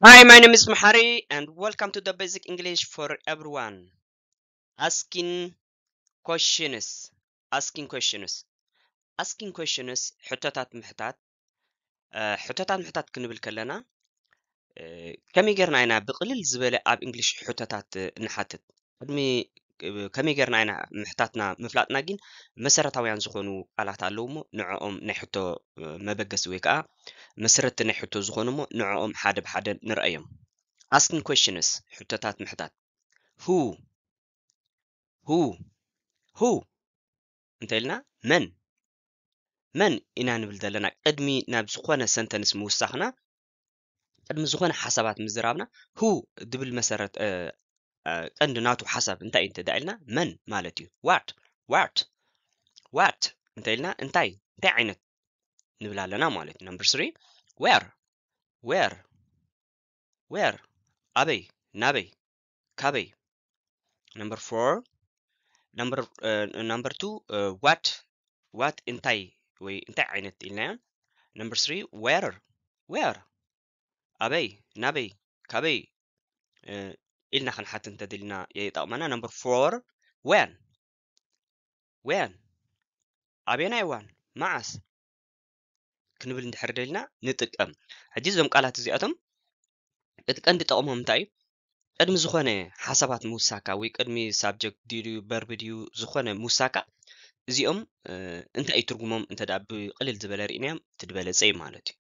Hi, my name is Mahari, and welcome to the Basic English for Everyone. Asking questions. Asking questions. Asking questions. ሕቶታት ምሕታት። ሕቶታት ምሕታት ክንብል ከለና ከመይ ጌርና ኢና ብቕልል ዝበለ ኣብ እንግሊሽ ሕቶታት እንሓትት? ቅድሚ ከመይ ጌርና ኢና ምሕታትና ምፍላጥና ግን መሰረታውያን ዝኾኑ ቃላት ኣለዉ እሞ ንዕኦም ናይ ሕቶ መበገሲ ወይ ከዓ መሰረትቲ ናይ ሕቶ ዝኾኑ እሞ ንዕኦም ሓደ ብሓደ ንርኣዮም። Asking questions፣ ሕቶታት ምሕታት። Who? Who? Who? እንተ ኢልና መን? መን ኢና ንብል ዘለና? ቅድሚ ናብ ዝኾነ ሰንተንስ ምውሳኽና፣ ቅድሚ ዝኾነ ሓሳባት ምዝራብና፣ who ድብል መሰረት ቀንዲ ናቱ ሓሳብ እንታይ እዩ እንተ ኢልና መን ማለት እዩ። What? What? What እንተ ኢልና እንታይ እንታይ ዓይነት ንብል ኣለና ማለት እዩ። Number three, where? Where? Where? ኣበይ? ናበይ? ካበይ? Number four, number number two, what? What እንታይ ወይ እንታይ ዓይነት ኢልናዮ? Number three, where? Where? ኣበይ? ናበይ? ካበይ? ኢልና ክንሓትት እንተደሊና ይጠቕመና። Number four, when? When? ኣበየናይ እዋን? መዓስ? ክንብል እንድሕር ደሊና ንጥቀም። ሕጂ እዞም ቃላት እዚኣቶም እቲ ቀንዲ ጠቕሞም እንታይ እዩ? ቅድሚ ዝኾነ ሓሳባት ምውሳካ ወይ ቅድሚ ሳብጀክት ድዩ ቨርብ ድዩ ዝኾነ ምውሳካ እዚኦም እንታይ እዩ ትርጉሞም እንተ ደኣ ብቕልል ዝበለ ርኢናዮም እቲ ዝበለጸ እዩ ማለት እዩ።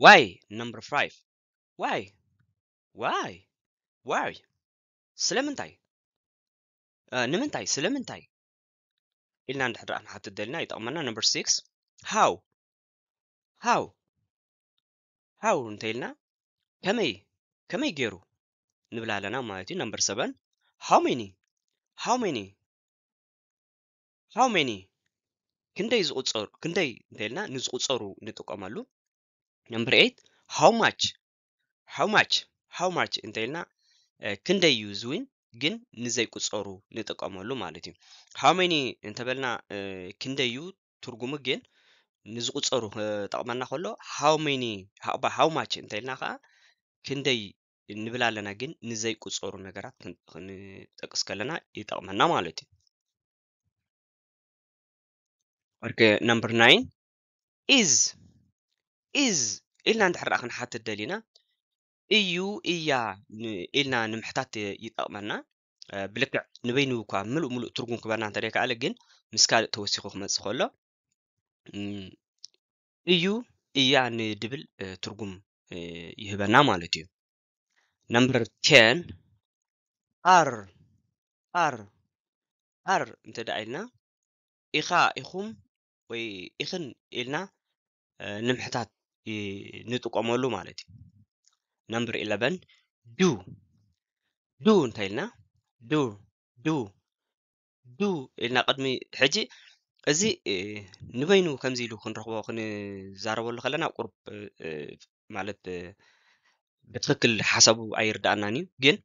Why? Number five. Why? Why? Why? ስለምንታይ? ንምንታይ? ስለምንታይ? ኢልና እንድሕር ደኣ ክንሓትት ደሊና ይጠቕመና። Number six, how? How? How እንተ ኢልና ከመይ? ከመይ ገይሩ? ንብል ኣለና ማለት እዩ። Number seven, how many? How many? How many? ክንደይ ዝቑጸሩ? ክንደይ እንተ ኢልና ንዝቑጸሩ ንጥቀመሉ። Number eight, how much? How much? How much እንተ ኢልና ክንደይ እዩ ዝውን ግን ንዘይቁጸሩ ንጥቀመሉ ማለት እዩ። How many እንተበልና ክንደይ እዩ ትርጉሙ ግን ንዝቁጸሩ ክጠቕመና ከሎ how many how much እንተ ኢልና ከዓ ክንደይ ንብል ኣለና ግን ንዘይቁጸሩ ነገራት ክንጠቅስ ከለና ይጠቕመና ማለት እዩ። Okay, number nine, is is ኢልና እንድሕር ደኣ ክንሓትት ደሊና እዩ እያ ኢልና ንምሕታት ይጠቕመና። ብልክዕ ንበይኑ እኳ ምሉእ ምሉእ ትርጉም ክበና እንተደይከኣለ ግን ምስ ካልእ ተወሲኹ ክመጽእ ከሎ እዩ እያ ንድብል ትርጉም ይህበና ማለት እዩ። Number ten, are are are እንተ ደኣ ኢልና ኢኻ ኢኹም ወይ ኢኽን ኢልና ንምሕታት ንጥቀመሉ ማለት እዩ። Number eleven, do do እንተ ኢልና do do do ኢልና ቅድሚ ሕጂ እዚ ንበይኑ ከምዚ ኢሉ ክንረኽቦ ክንዛረበሉ ከለና ቁርብ ማለት ብትኽክል ሓሳቡ ኣይርዳእናን እዩ፣ ግን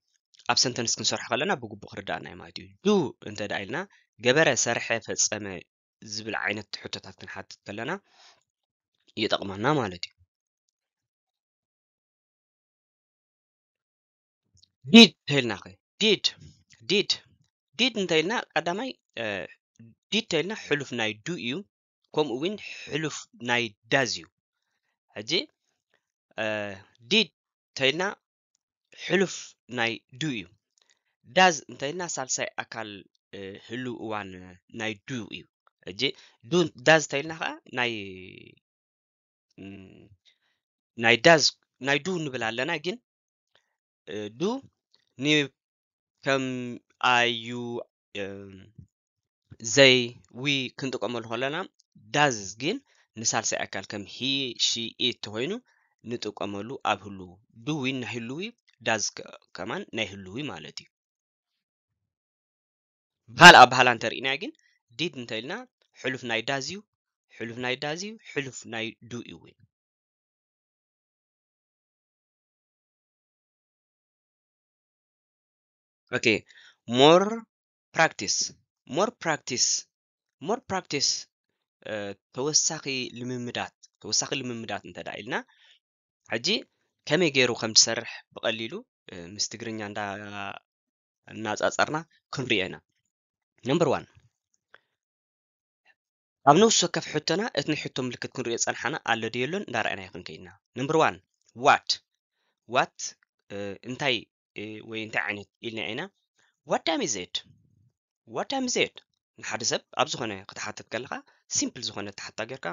ኣብ ሰንተንስ ክንሰርሖ ከለና ብግቡእ ክርዳእና እዩ ማለት እዩ። Do እንተ ደኣ ኢልና ገበረ፣ ሰርሐ፣ ፈጸመ ዝብል ዓይነት ሕቶታት ክንሓትት ከለና ይጠቕመና ማለት እዩ። Did ተልና ኸ did did did እንተ ኢልና ቀዳማይ did ተልና ሕሉፍ ናይ do እዩ። ከምኡ እውን ሕሉፍ ናይ does እዩ። ሕጂ did ተልና ሕሉፍ ናይ do እዩ። Does እንተ ኢልና ሳልሳይ ኣካል ህሉው እዋን ናይ do እዩ። ሕጂ do does ተልና ከዓ ናይ ናይ does ናይ do ንብል ኣለና ግን do ን ከም I, you, they, we ክንጥቀመሉ ከለና does ግን ንሳልሳይ ኣካል ከም he, she, it ተኮይኑ ንጥቀመሉ ኣብ ህልው። Do ን ናይ ህልዊ does ከማን ናይ ህልዊ ማለት እዩ። ብካልእ ኣበሃህላ እንተርኢናዮ ግን did እንተ ኢልና ሕሉፍ ናይ does እዩ፣ ሕሉፍ ናይ does እዩ፣ ሕሉፍ ናይ do እዩ እውን። Okay, more practice, more practice, more practice ተወሳኺ ልምምዳት ተወሳኺ ልምምዳት እንተ ደኣ ኢልና፣ ሕጂ ከመይ ገይሩ ከም ዝሰርሕ ብቐሊሉ፣ እ፣ ምስ ትግርኛ እንዳ-፣ እናጻጸርና ክንሪኦ ኢና። ነምበር ዋን፣ ኣብ ነፍሲ ወከፍ ሕቶና እቲ ናይ ሕቶ ምልክት ክንሪኦ ጸንሓና ኣሎ ድዩ የሎን እንዳረኣና ይኹን ከይድና። ነምበር ዋን፣ what? What፣ እ፣ እንታይ፣ እ፣ ወይ እንታይ ዓይነት ኢልና ኢና? What time is it? What time is it? ንሓደ ሰብ ኣብ ዝኾነ ክትሓትት ከለኻ፣ ሲምፕል ዝኾነ ተሓታ ጌርካ፣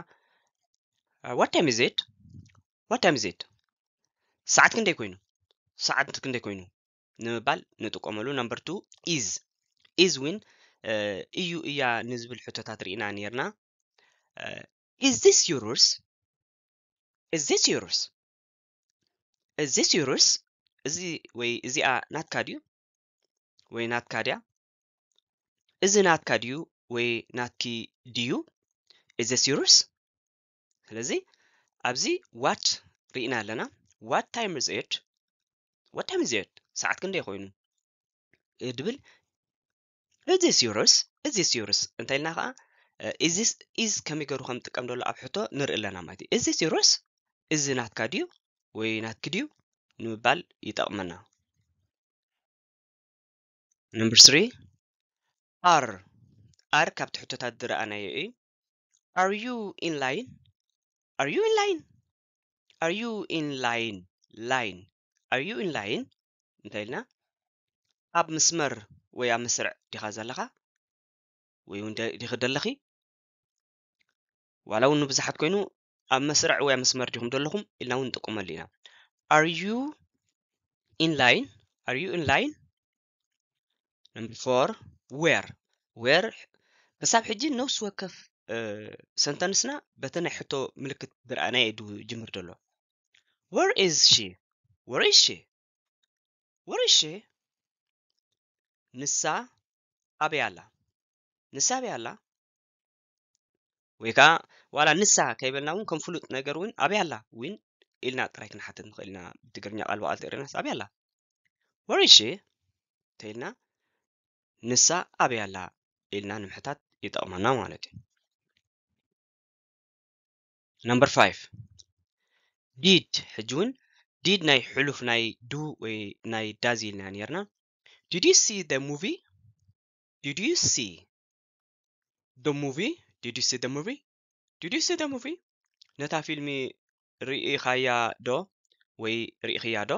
እ፣ what time is it? What time is it? ሰዓት ክንደይ ኮይኑ? ሰዓት ክንደይ ኮይኑ? ንምባል ንጥቀመሉ። ነምበር ቱ፣ is። Is እውን፣ እ፣ እዩ እያ ንዝብል ሕቶታት ርኢና ነይርና። እ፣ is this yours? Is this yours? Is this yours? እዚ ወይ እዚኣ ናትካ ድዩ? ወይ ናትካ ድያ? እዚ ናትካ ድዩ ወይ ናትኪ ድዩ? Is this yours? ስለዚ ኣብዚ what ርኢና ኣለና። What time is it? What time is it? ሰዓት ክንደይ ኮይኑ? እ፣ ድብል፣ is this yours? Is this yours? እንታይ ኢልና ኸዓ፣ እ፣ is this፣ is ከመይ ገይሩ ከም ጥቀም ዘሎ ኣብ ሕቶ ንርኢ ኣለና ማለት እዩ። Is this yours? እዚ ናትካ ድዩ ወይ ናትኪ ድዩ ንምባል ይጠቕመና። ነምበር ስሪ፣ are። Are ካብቲ ሕቶታት ዝረኣናዮ እዩ። Are you in line? Are you in line? Are you in line? Line። Are you in line? እንታይ ኢልና? ኣብ መስመር ወይ ኣብ መስርዕ ዲኻ ዘለኻ? ወይ እውን ደ-፣ ዲኺ ደለኺ? ዋላ እውን ንብዙሓት ኮይኑ ኣብ መስርዕ ወይ ኣብ መስመር ዲኹም ዘለኹም ኢልና እውን ንጥቀመሉ ኢና። Are you in line? Are you in line? ነምበር ፎር፣ where። Where ክሳብ ሕጂ ነፍሲ ወከፍ፣ እ፣ ሰንተንስና በቲ ናይ ሕቶ ምልክት ዝረኣናዮ እዩ ዝጅምር ዘሎ። Where is she? Where is she? Where is she? ንሳ ኣበይ ኣላ? ንሳ ኣበይ ኣላ? ወይ ከዓ ዋላ ንሳ ከይበልና እውን ከም ፍሉጥ ነገር እውን ኣበይ ኣላ እውን ኢልና ጥራይ ክንሓትት ንኽእል ኢና። ብትግርኛ ቃል ብቓል ተርእናስ ኣበይ ኣላ? Where is she? እንተኢልና ንሳ ኣበይ ኣላ ኢልና ንምሕታት ይጠቕመና ማለት እዩ። ነምበር ፋይቭ፣ did። ሕጂ እውን did ናይ ሕሉፍ ናይ do ወይ ናይ does ኢልና ነርና። Did you see the movie? Did you see the movie? Did you see the movie? Did you see the movie? ነታ ፊልሚ ርኢኻያ ዶ ወይ ርኢኽያ ዶ?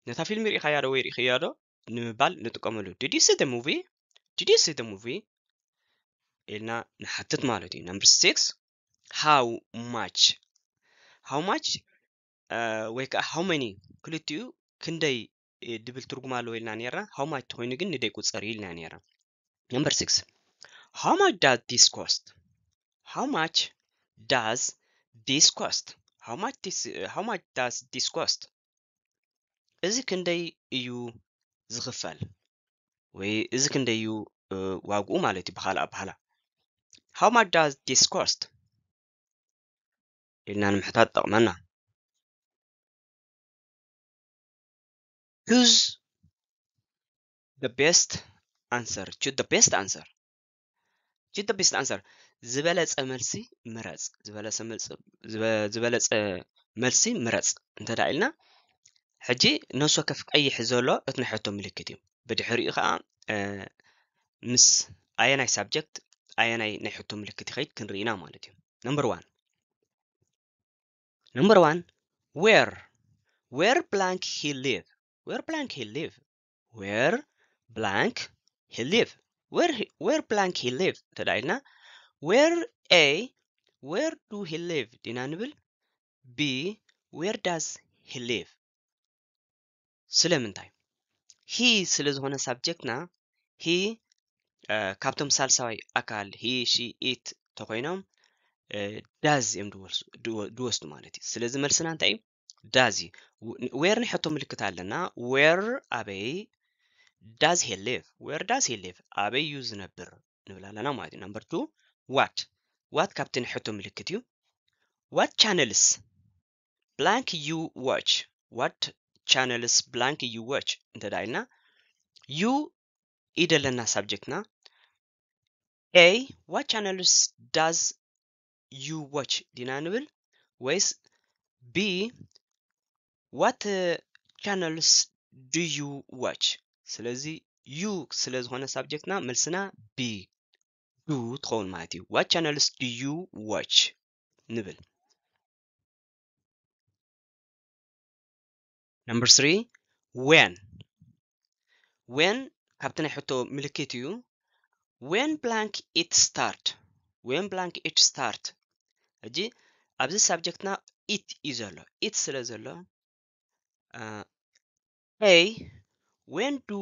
ነታ ፊልሚ ርኢኻያ ዶ ወይ ርኢኽያ ዶ ንምባል ንጥቀመሉ። Did you see the movie? Did you see the movie? ኢልና ንሓትት ማለት እዩ። ነምበር ሲክስ፣ how much? How much፣ እ፣ ወይ ከዓ how many፣ ክልቲኡ ክንደይ፣ እ፣ ድብል ትርጉም ኣለዎ ኢልና ነርና። How much ተኾይኑ ግን ንደይ ቁፀር እዩ ኢልና ነርና። ነምበር ሲክስ፣ how much does this cost? How much does this cost? How much this, how much does this cost? እዚ ክንደይ እዩ ዝኽፈል? ወይ እዚ ክንደይ እዩ፣ እ፣ ዋግኡ ማለት እዩ ብኻልእ ኣበሃህላ። How much does this cost? ኢልና ንምሕታት ጠቕመና። Choose the best answer. Choose the best answer. Choose the best answer. ዝበለጸ መልሲ ምረጽ። ዝበለጸ መልሲ፣ ዝበ-፣ ዝበለጸ መልሲ ምረጽ እንተ ደኣ ኢልና፣ ሕጂ ነፍሲ ወከፍ ቀይሕ ዘሎ እቲ ናይ ሕቶ ምልክት እዩ። ብድሕሪኡ ኸዓ፣ እ፣ ምስ ኣየናይ ሳብጀክት ኣየናይ ናይ ሕቶ ምልክት ይኸይድ ክንርኢና ማለት እዩ። ነምበር ዋን። ነምበር ዋን፣ where? Where blank he live? Where blank he live? Where blank he live? Where he, where blank he live? እንተ ደኣ ኢልና፣ where፣ A፣ where do he live ዲና ንብል? B፣ where does he live? ስለምንታይ? He ስለ ዝኾነ ሳብጀክትና፣ he፣ እ፣ ካብቶም ሳልሳዋይ ኣካል፣ he፣ she፣ it ተኾይኖም፣ እ፣ does እዮም ድወስ-፣ ድወ-፣ ድወስዱ ማለት እዩ። ስለዚ መልስና እንታይ እዩ? Does እዩ። ው-፣ where ናይ ሕቶ ምልክት ኣለና። Where ኣበይ? Does he live? Where does he live? ኣበይ እዩ ዝነብር? ንብል ኣለና ማለት እዩ። ነምበር ቱ፣ what? What ካብቲ ናይ ሕቶ ምልክት እዩ። What channels blank you watch? What channels blank you watch? እንተ ደኣ ኢልና፣ you ኢደለና ሳብጀክትና። A፣ what channels does you watch ዲና ንብል? ወይስ B, what channels do you watch? ስለዚ you ስለ ዝኾነ subject ና መልስና B, do ትኸውን ማለት እዩ። What channels do you watch ንብል። Number three, when. When ካብቲ ናይ ሕቶ ምልክት እዩ። When blank it start? When blank it start? ሕጂ ኣብዚ subject ና it እዩ ዘሎ። It ስለ ዘሎ A, when do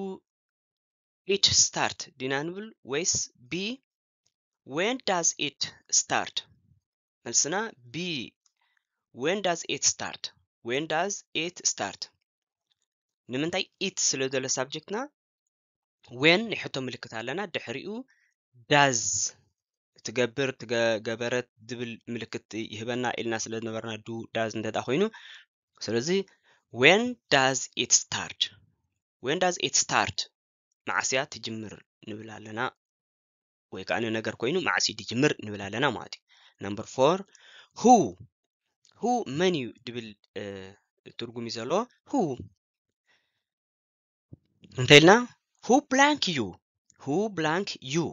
it start ዲና ንብል ወይስ B, when does it start? መልስና B, when does it start? When does it start? ንምንታይ? It ስለ ዘሎ subject ና when ናይ ሕቶ ምልክት ኣለና፣ ድሕሪኡ does ትገብር፣ ትገ-፣ ገበረት ዝብል ምልክት ይህበና ኢልና ስለ ዝነበርና do፣ does እንተ ደኣ ኮይኑ፣ ስለዚ when does it start? When does it start? መዓስ እያ ትጅምር ንብል ኣለና፣ ወይ ከዓ ንነገር ኮይኑ መዓስ እዩ ዝጅምር ንብል ኣለና ማለት እዩ። Number four, who? Who መን እዩ ዝብል ትርጉም እዩ ዘለዎ። Who እንተ ኢልና who blank you? Who blank you?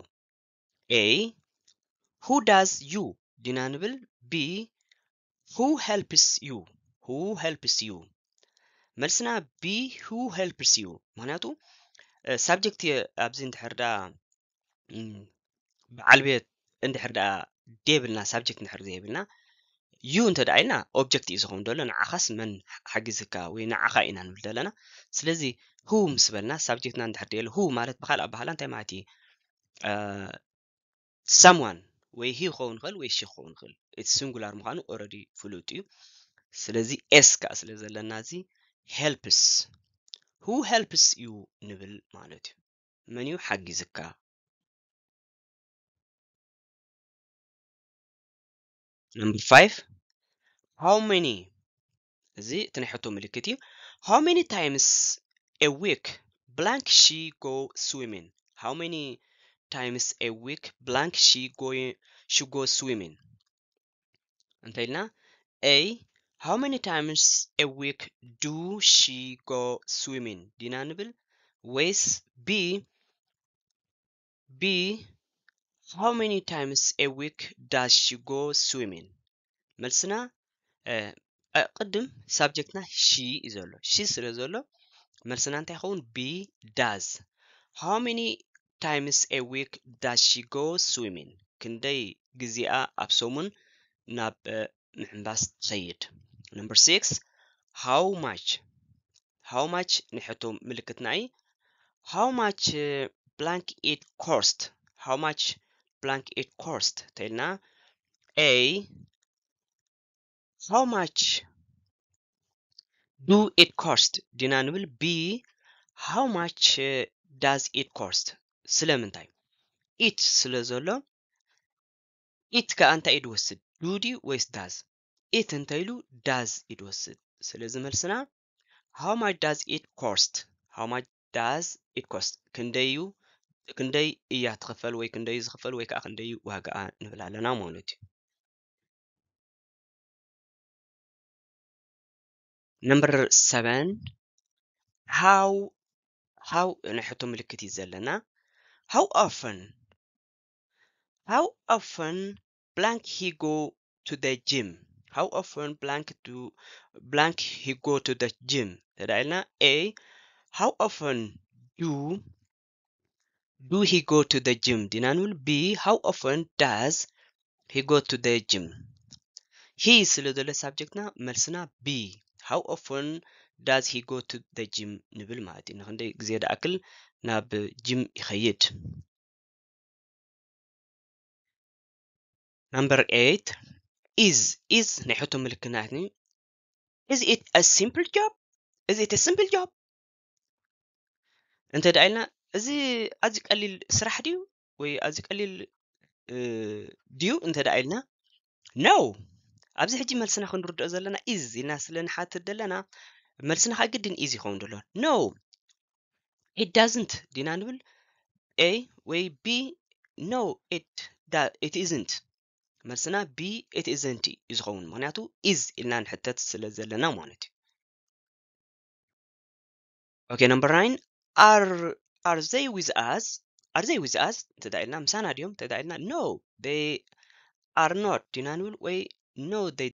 A, who does you ዲና ንብል? B, who helps you? Who helps you? መልስና B, who helps you። ምክንያቱ subject ኣብዚ እንድሕር ዳ በዓል ቤት እንድሕር ዳ ዘይብልና፣ subject እንድሕር ዘይብልና you እንተ ደኣ ኢልና object እዩ ዝኸውን ዘሎ፣ ንዓኻስ መን ሓጊዝካ ወይ ንዓኻ ኢና ንብል ዘለና። ስለዚ who ምስ በልና subject ና እንድሕር ደየለ፣ who ማለት ብካልእ ኣባህላ እንታይ ማለት እዩ? Someone ወይ he ክኸውን ይኽእል ወይ she ክኸውን ይኽእል። It's singular ምዃኑ already ፍሉጥ እዩ። ስለዚ S ከዓ ስለ ዘለና እዚ helps፣ who helps you ንብል ማለት እዩ። መን እዩ ሓጊዝካ? Number five, how many? እዚ እቲ ናይ ሕቶ ምልክት እዩ። How many times a week blank she go swimming? How many times a week blank she go, she go swimming? እንተ ኢልና A, how many times a week do she go swimming ዲና ንብል ወይስ B, B, how many times a week does she go swimming? መልስና ቅድም subject ና she እዩ ዘሎ። She ስለ ዘሎ መልስና እንታይ ይኸውን? B, does። How many times a week does she go swimming? ክንደይ ግዜኣ ኣብ ሰሙን ናብ ምሕንባስ ትኸይድ? Number six, how much? How much ናይ ሕቶ ምልክትና እዩ። How much blank it cost? How much blank it cost ተልና A, how much do it cost ዲና ንብል? B, how much does it cost? ስለምንታይ? It ስለ ዘሎ it ከኣ እንታይ እዩ ዝወስድ? Do ድዩ ወይስ does? It እንተ ኢሉ does እዩ ዝወስድ። ስለዚ መልስና how much does it cost? How much does it cost? ክንደይ እዩ፣ ክንደይ እያ ትኽፈል ወይ ክንደይ እዩ ዝኽፈል ወይ ከዓ ክንደይ እዩ ዋጋኣ ንብል ኣለና ማለት እዩ። Number seven, how, how ናይ ሕቶ ምልክት እዩ ዘለና። How often, how often blank he go to the gym? How often blank do, blank he go to the gym? ተዳኢልና A, how often do, do he go to the gym ዲና ንብል? B, how often does he go to the gym? He ስለ ዘሎ subject ና መልስና B, how often does he go to the gym ንብል ማለት እዩ። ንክንደይ ግዜ ደኣክል ናብ gym ይኸይድ? Number eight, is, is ናይ ሕቶ ምልክት ናት። Is it a simple job? Is it a simple job? እንተ ደኣ ኢልና እዚ ኣዝዩ ቀሊል ስራሕ ድዩ ወይ ኣዝዩ ቀሊል ድዩ እንተ ደኣ ኢልና፣ no። ኣብዚ ሕጂ መልስና ክንርድኦ ዘለና is ኢልና ስለ ንሓትት ዘለና መልስና ከዓ ግድን is ይኸውን ዘሎ። No, it doesn't ዲና ንብል? A ወይ B? No, it, it isn't። መልስና B, it isn't እዩ ዝኸውን፣ ምክንያቱ is ኢልና ንሕተት ስለ ዘለና ማለት እዩ። Okay, number nine, are are they with us? Are they with us እንተ ኢልና ምሳና ድዮም እንተ ኢልና no, they are not ዲና ንብል ወይ no, they